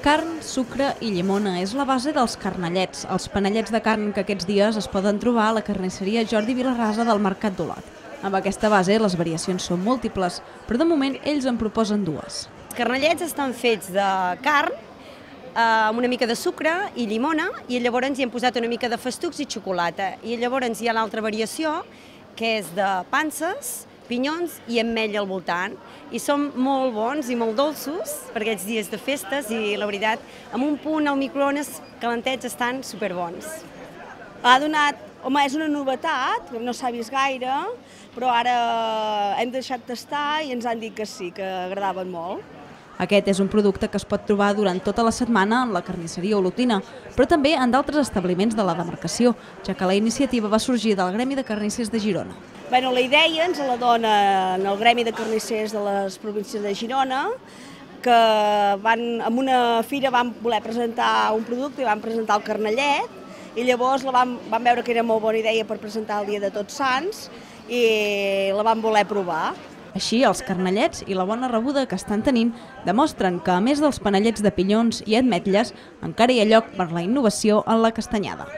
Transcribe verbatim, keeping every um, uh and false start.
Carn, sucre i llimona és la base dels carnellets, els panellets de carn que aquests dies es poden trobar a la carnisseria Jordi Vilarrasa del Mercat d'Olot. Amb aquesta base les variacions són múltiples, però de moment ells en proposen dues. Els carnellets estan fets de carn, amb una mica de sucre i llimona, i llavors hi hem posat una mica de festucs i xocolata. I llavors hi ha l'altra variació, que és de panses, pinyons i ametlla al voltant. I són molt bons i molt dolços per aquests dies de festes i, la veritat, amb un punt al microones calentets estan superbons. Ha donat, home, és una novetat, no s'ha vist gaire, però ara hem deixat tastar i ens han dit que sí, que agradaven molt. Aquest és un producte que es pot trobar durant tota la setmana en la carnisseria olotina, però també en d'altres establiments de la demarcació, ja que la iniciativa va sorgir del Gremi de Carnissers de Girona. Bueno, la idea ens la dona en el Gremi de Carnissers de les províncies de Girona, que van, en una fira van voler presentar un producte i van presentar el carnellet, i llavors la van, van veure que era molt bona idea per presentar el dia de Tots Sants i la van voler provar. Així, els carnellets i la bona rebuda que estan tenint demostren que, a més dels panellets de pinyons i ametlles, encara hi ha lloc per la innovació en la castanyada.